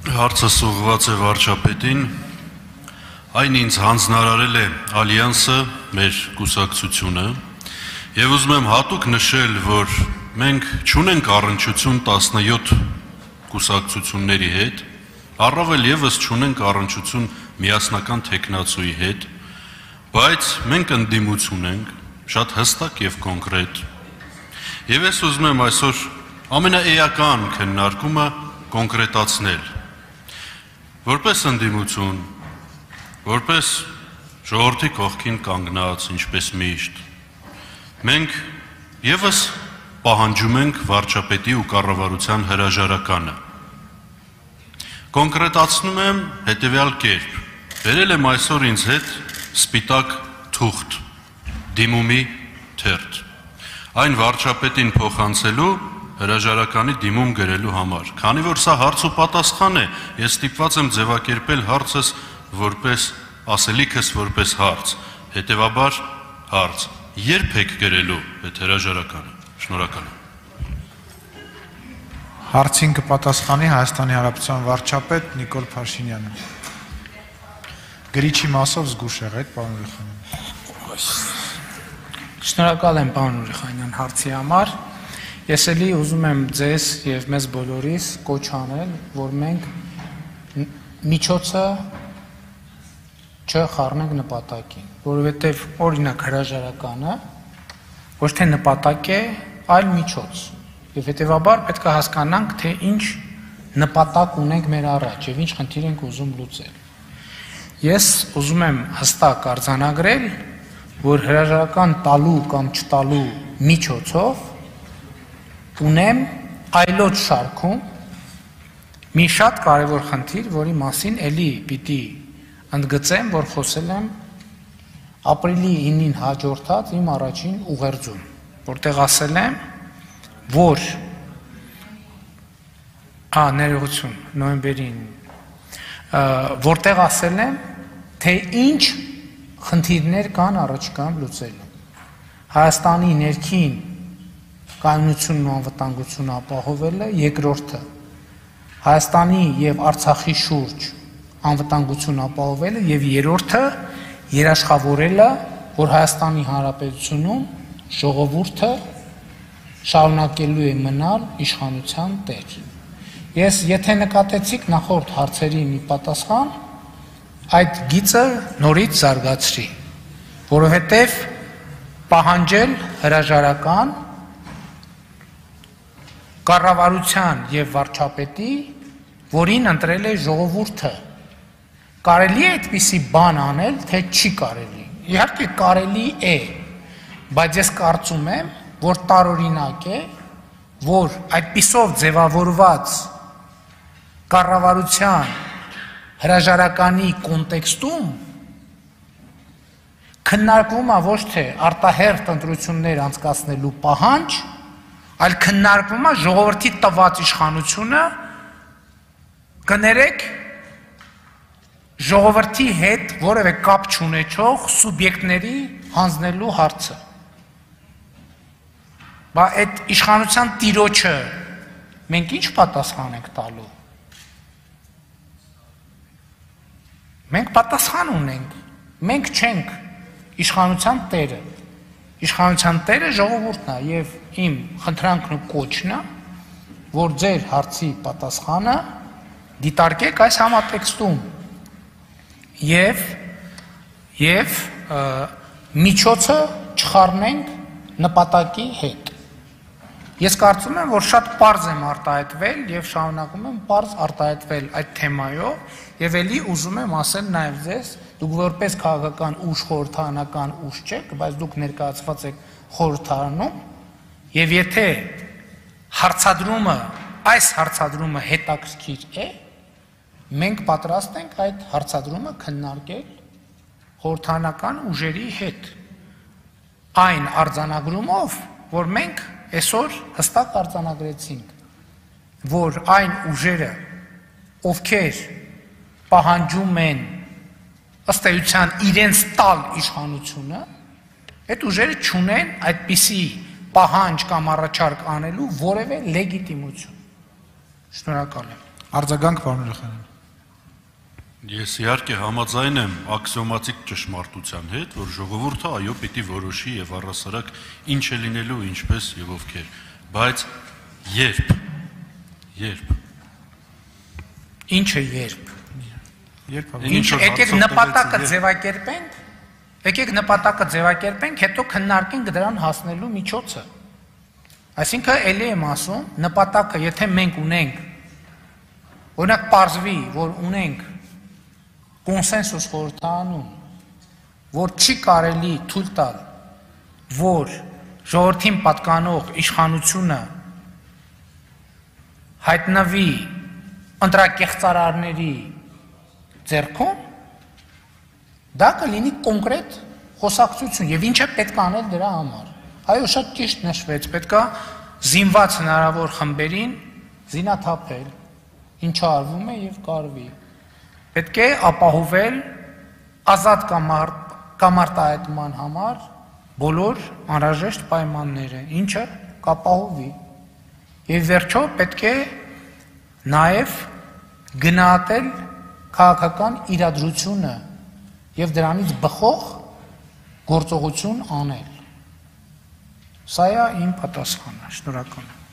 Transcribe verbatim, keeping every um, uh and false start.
Հարցը ուղղված է վարչապետին, այն ինձ հանձնարարել է Ալյանսը, մեր կուսակցությունը, եւ ուզում եմ հատուկ նշել, որ մենք չունենք առնչություն տասնյոթ կուսակցությունների հետ, առավել եւս չունենք առնչություն միասնական թեկնածուի հետ, բայց մենք ընդդիմություն ենք, շատ հստակ եւ կոնկրետ։ Եվ ես ուզում եմ այսօր ամենաէական քննարկումը կոնկրետացնել։ Որպես ընդդիմություն, որպես ժողովրդի կողքին կանգնած, ինչպես միշտ, մենք եւս պահանջում ենք վարչապետի ու կառավարության հրաժարականը։ Կոնկրետացնում եմ հետեւյալ կերպ. բերել եմ այսօր ինձ հետ սպիտակ թուղթ, դիմումի թերթ, այն վարչապետին փոխանցելու հրաժարականի դիմում գրելու համար, քանի որ սա հարց ու պատասխան է, ես ստիպված եմ ձևակերպել հարցս որպես ասելիքս որպես հարց, հետևաբար հարց, երբ եք գրելու այդ հրաժարականը, շնորհակալ եմ։ Հարցին կպատասխանի Հայաստանի Հանրապետության վարչապետ Նիկոլ Փաշինյանը։ Գրիչի մասով զգուշ եղեք, պարոն Ուրիխանյան։ Շնորհակալ եմ, պարոն Ուրիխանյան, հարցի համար։ Ես էլի ուզում եմ ձեզ եւ մեզ բոլորիս կոչ անել, որ մենք միջոցը չխառնենք նպատակին, որովհետեւ օրինակ հրաժարականը ոչ թե նպատակ է, այլ միջոց։ Եվ հետեւաբար պետք է հասկանանք, թե ինչ նպատակ ունենք մեր առաջ եւ ինչ խնդիր ենք ուզում լուծել։ Ես ուզում եմ հստակ արձանագրել, որ հրաժարական տալու կամ չտալու միջոցով ունեմ այլոց շարքում մի շատ կարևոր խնդիր, որի մասին էլի պիտի ընդգծեմ, որ խոսել եմ ապրիլի ինին հաջորդած իմ առաջին ուղերձում, որտեղ ասել եմ, որ ա ներողություն նոյեմբերին, որտեղ ասել եմ, թե ինչ խնդիրներ կան առաջիկայում լուծելու։ Հայաստանի ներքին կայունությունն ու անվտանգությունը ապահովելը, երկրորդը Հայաստանի եւ Արցախի շուրջ անվտանգություն ապահովելը եւ երրորդը երաշխավորելը, որ Հայաստանի Հանրապետությունում ժողովուրդը շարունակելու է մնալ իշխանության տեր։ Ես եթե նկատեցիք նախորդ հարցերի մի պատասխան, այդ գիծը նորից զարգացրի, որովհետեւ պահանջել հրաժարական կառավարության եւ վարչապետի, որին ընտրել է ժողովուրդը, կարելի է այդպիսի բան անել, թե չի կարելի։ Իհարկե կարելի է, բայց ես կարծում եմ, որ տարօրինակ է, որ այդպիսով ձևավորված կառավարության հրաժարականի կոնտեքստում քննարկվում է ոչ թե արտահերթ ընտրություններ անցկացնելու պահանջ, այլ քննարկվում է ժողովրդի տված իշխանությունը, կներեք ժողովրդի հետ որևէ կապ չունեցող սուբյեկտների հանձնելու հարցը։ Բա այդ իշխանության տիրոջը մենք ինչ պատասխան ենք տալու։ Մենք պատասխան ունենք, մենք չենք իշխանության տերը։ Իշխանության տերը ժողովուրդն է եւ իմ խնդրանքն ու կոչն է, որ ձեր հարցի պատասխանը դիտարկեք այս համատեքստում եւ եւ միջոցը չխառնենք նպատակի հետ։ Ես կարծում եմ, որ շատ պարզ եմ արտահայտվել եւ շարունակում եմ պարզ արտահայտվել այդ թեմայով եւ ելի ուզում եմ ասել նաեւ ձեզ, դուք որպես քաղաքական ուժ, խորհրդարանական ուժ չեք, բայց դուք ներկայացված եք խորհրդարանում եւ եթե հարցադրումը, այս հարցադրումը հետաքրքիր է, մենք պատրաստ ենք այդ հարցադրումը քննարկել խորհրդարանական ուժերի հետ։ Այն արձանագրումով, որ մենք այսօր հստակ արձանագրեցինք, որ այն ուժերը, ովքեր պահանջում են ըստ էության իրենց տալ իշխանությունը, այդ ուժերը չունեն այդպիսի պահանջ կամ առաջարկ անելու որևէ լեգիտիմություն։ Շնորհակալ եմ։ Արձագանք պարոն Երախանյան։ Ես իհարկե համաձայն եմ աքսիոմատիկ ճշմարտության հետ, որ ժողովուրդը այո պիտի որոշի եւ առասարակ ինչ է լինելու, ինչպես եւ ովքեր, բայց երբ երբ Ինչը երբ Երբ Ինչ եկեք նպատակը ձևակերպենք, եկեք նպատակը ձևակերպենք, հետո քննարկենք դրան հասնելու միջոցը։ Այսինքն ելի եմ ասում, նպատակը, եթե մենք ունենք, օրինակ պարզվի, որ ունենք կոնսենսուս խորհրդարանում, որ չի կարելի թույլ տալ, որ ժողովրդին պատկանող իշխանությունը հայտնվի ընտրակեղծարարների ձեռքում, դա կլինի կոնկրետ խոսակցություն եւ ինչ է պետք անել դրա համար։ Այո, շատ ճիշտ նշվեց, պետքա զինված հնարավոր խմբերին զինաթափել, ինչը արվում է եւ կարվի։ Պետք է ապահովել ազատ կամարտահայտման համար բոլոր անհրաժեշտ պայմանները, ինչը կապահովի։ Եվ վերջո պետք է նաեւ գնահատել քաղաքական իրադրությունը եւ դրանից բխող գործողություն անել։ Սա է իմ պատասխանը, շնորհակալ եմ։